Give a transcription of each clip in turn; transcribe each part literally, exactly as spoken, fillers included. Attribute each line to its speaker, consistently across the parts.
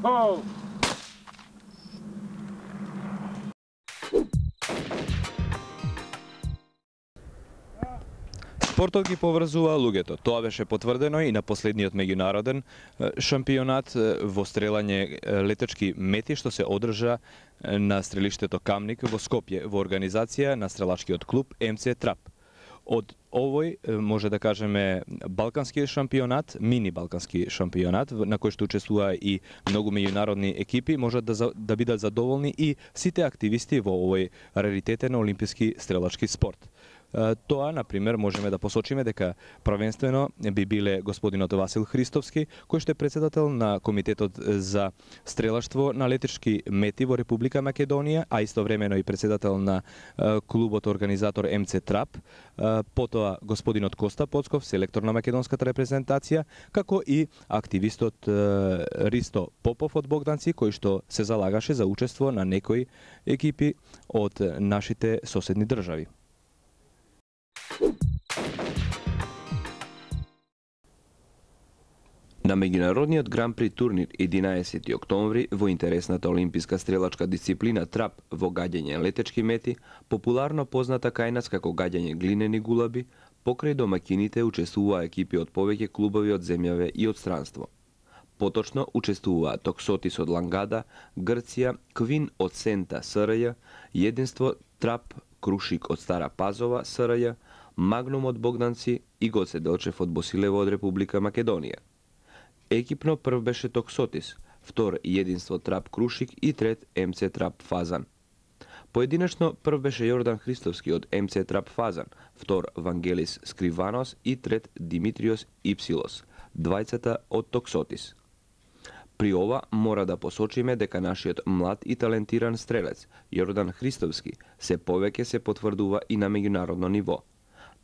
Speaker 1: Гол!
Speaker 2: Спортот ги поврзува луѓето. Тоа беше потврдено и на последниот меѓународен шампионат во стрелање летачки мети што се одржа на стрелиштето Камник во Скопје во организација на стрелачкиот клуб Ем Це Трап. Од овој, може да кажеме, балкански шампионат, мини балкански шампионат, на кој што учествува и многу меѓународни екипи, можат да, да бидат задоволни и сите активисти во овој раритетен олимписки стрелачки спорт. Тоа, например, можеме да посочиме дека првенствено би биле господинот Васил Христовски, кој што е председател на Комитетот за стрелаштво на летачки мети во Република Македонија, а истовремено и председател на клубот организатор Ем Це Трап, потоа господинот Коста Поцков, селектор на македонската репрезентација, како и активистот Ристо Попов од Богданци, кој што се залагаше за учество на некои екипи од нашите соседни држави.
Speaker 3: На меѓународниот Гран-при турнир единаесети октомври во интересната олимписка стрелачка дисциплина трап во гаѓање летечки мети, популарно позната кај нас како гаѓање глинени гулаби, покрај домакините учествуваа екипи од повеќе клубови од земјаве и од странство. Поточно учествуваа Токсотис од Лангада, Грција, Квин од Сента СРЈ, Единство Трап Крушик од Стара Пазова СРЈ, Магнум од Богданци и Гоце Делчев од Босилево од Република Македонија. Екипно прв беше Токсотис, втор Единство Трап Крушик и трет Ем Це Трап Фазан. Поединечно прв беше Јордан Христовски од Ем Це Трап Фазан, втор Вангелис Скриванос и трет Димитриос Ипсилос, двајцата од Токсотис. При ова мора да посочиме дека нашиот млад и талентиран стрелец Јордан Христовски се повеќе се потврдува и на меѓународно ниво.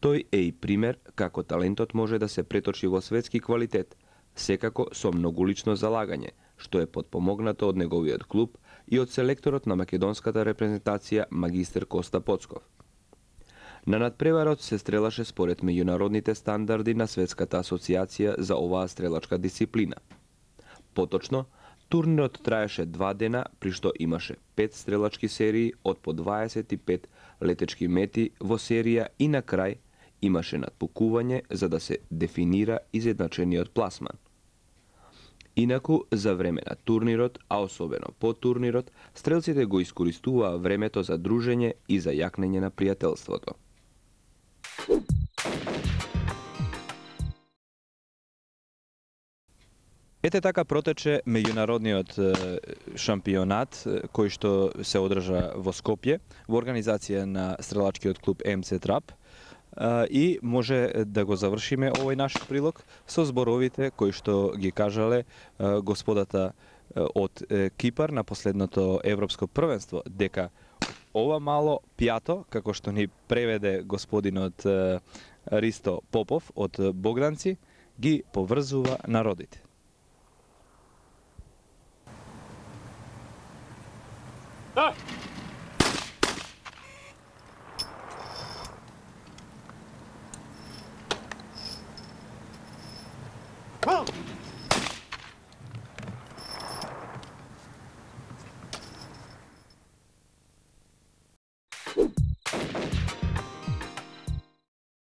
Speaker 3: Тој е и пример како талентот може да се преточи во светски квалитет, секако со многулично залагање, што е потпомогнато од неговиот клуб и од селекторот на македонската репрезентација магистер Коста Поцков. На надпреварот се стрелаше според меѓународните стандарди на Светската асоциација за оваа стрелачка дисциплина. Поточно, турнирот траеше два дена, при што имаше пет стрелачки серии од по дваесет и пет летечки мети во серија и на крај имаше надпукување за да се дефинира изедначениот пласман. Инаку, за време на турнирот, а особено по турнирот, стрелците го искористуваа времето за дружење и за јакнење на пријателството.
Speaker 2: Ете така протече меѓународниот шампионат кој што се одржа во Скопје во организација на стрелачкиот клуб Ем Це Трап. И може да го завршиме овој наш прилог со зборовите кои што ги кажале господата од Кипар на последното европско првенство, дека ова мало пјато, како што ни преведе господинот Ристо Попов од Богданци, ги поврзува народите.
Speaker 1: Да!